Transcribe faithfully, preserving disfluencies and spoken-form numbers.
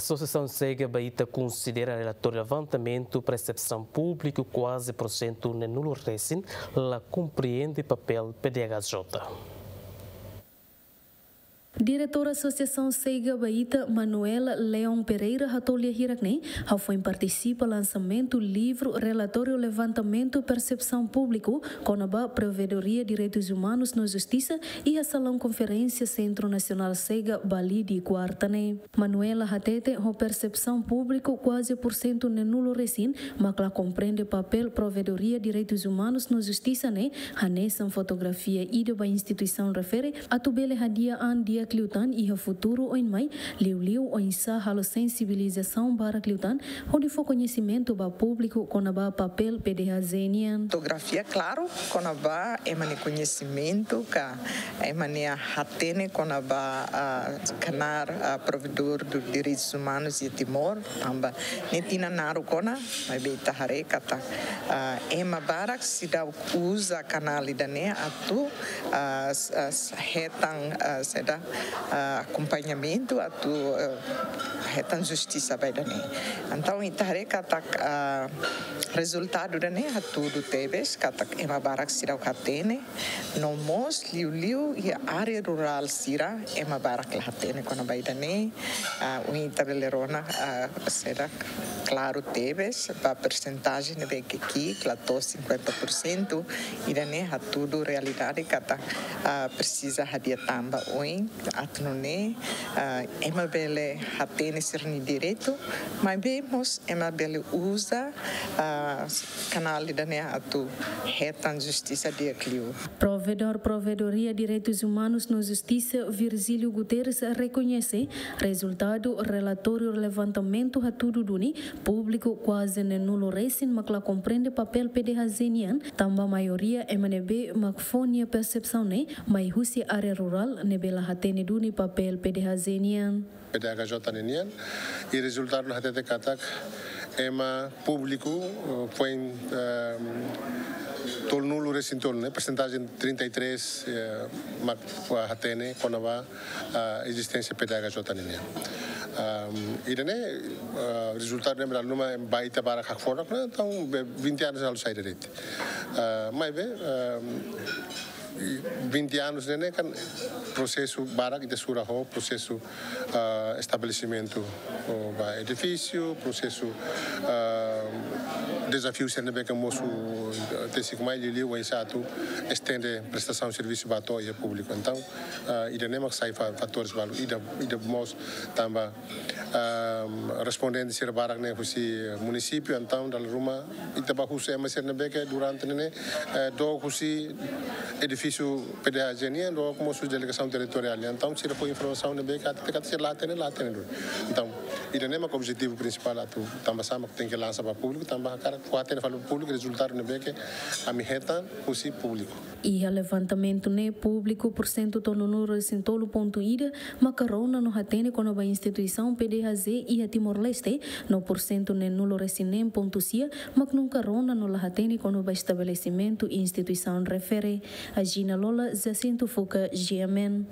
Asosiasaun SEGA ba ita konsidera relatóriu levantamentu persepsaun públiku kuaze pursentu neenulu resin la komprende papél P D H J. Diretór Asosiasaun SEGA ba ita, Manuela Leão Pereira, hato'o lia hirak ne'e, hafoin partisipa lansamentu livru relatóriu levantamentu persepsaun públiku kona-ba Provedoria Direitus Umanus no Justisa iha salaun konferénsia Sentru Nasionál SEGA, Balide, kuarta ne'e. Manuela hatete, ho persepsaun públiku kuaze pursentu neenulu resin mak la komprende papél Provedoria Direitus Umanus no Justisa ne'e, hanesan fotografia ida ba instituisaun refere atu bele hadi'a an di'ak liután iha futuru oin mai, liuliu oinsá halo sensibilizasaun barak liután hodi fó koñesimentu ba públiku kona-ba papél P D H J nian. Fotografia klaru kona-ba ema nia koñesimentu ka ema nia hatene kona-ba, ah, knaar, ah, provedór direitus umanus iha Timor, tanba ne'e tinan naruk ona, maibé ita haree katak, ah, ema barak seidauk uza kanál ida-ne'e atu, ah, s-, ah, s-, hetan, ah, saida, ah, akompañamentu atu, ah, hetan justisa ba ida-ne'e. Entaun, ita haree katak, ah, rezultadu ida-ne'e hatudu tebes katak ema barak seidauk hatene, no mós liuliu iha área rurál sira ema barak la hatene kona-ba ida-ne'e. Ah, ohin ita bele rona, ah, saida, klaru tebes ba persentajen ne'ebé ke ki'ik la to'o cinquenta por cento, ida-ne'e hatudu realidade katak, ah, presiza hadi'a tan ba oin atu nune'e, ah, ema bele hatene sira-nia direitu, maibé mós ema bele uza, ah, kanál ida-ne'e atu hetan justisa di'ak liu. Provedór Provedoria Direitus Umanus no Justisa, Virgílio Guterres, rekoñese rezultadu relatóriu levantamentu hatudu duni públiku kuaze neenulu resin mak la komprende papél P D H J nian, tanba maioria ema ne'ebé mak fó nia persepsaun ne'e mai husi área rurál ne'ebé la hatene duni papél P D H J nian. P D H J ninian, i rezultadu ne'e hatete katak ema públiku, eh, foin, ehm, tolunulu resin tolu ne'e, persentajen trinta e três, eh, mak, ah, hatene kona-ba, ah, ezisténsia P D H J ninian. Ehm, ida-ne'e, ah, rezultadu ne'e dala ruma ba ita barak hakfodak ona, entaun be vinte anos halo sai de'it. Ah, maibé, ehm, i vinte anos ne'e, ne'e kan prosesu barak ita sura ho, prosesu, ah, estabelesimentu, oh, ba edifísiu, prosesu, ah, dezafiu sira ne'ebé ke mosu, ah, tesik mai liuliu oinsá atu estende prestasaun servisu ba to'o iha públiku. Entaun, ah, ida-ne'e mak sai fa-, fatores balu, ida, ida mós tanba, ah, respondente sira barak ne'e husi munisípiu, entaun dala ruma ita bá husu ema sira ne'ebé ke durante ne'e, eh, dook husi edifísiu P D H J nian, dook mós husi delegasaun territoriál nian. Entaun sira fó informasaun ne'ebé ke ita katak sira la hatene, la hatene duni. Entaun, ida-ne'e mak objetivu prinsipál atu, tanba sá mak tenke lansa ba públiku, tanba hakarak fó hatene fali ba públiku rezultadu ne'ebé ke ami hetan husi públiku. Iha levantamentu ne'e, públiku pursentu tolunulu resin tolu pontu ida maka rona no hatene kona-ba instituisaun P D H J iha Timor-Leste, no pursentu neenulu resin neen pontu sia mak nunka rona no la hatene kona-ba estabelesimentu instituisaun refere. Agina Lola, Jacinto Fuca, G M N.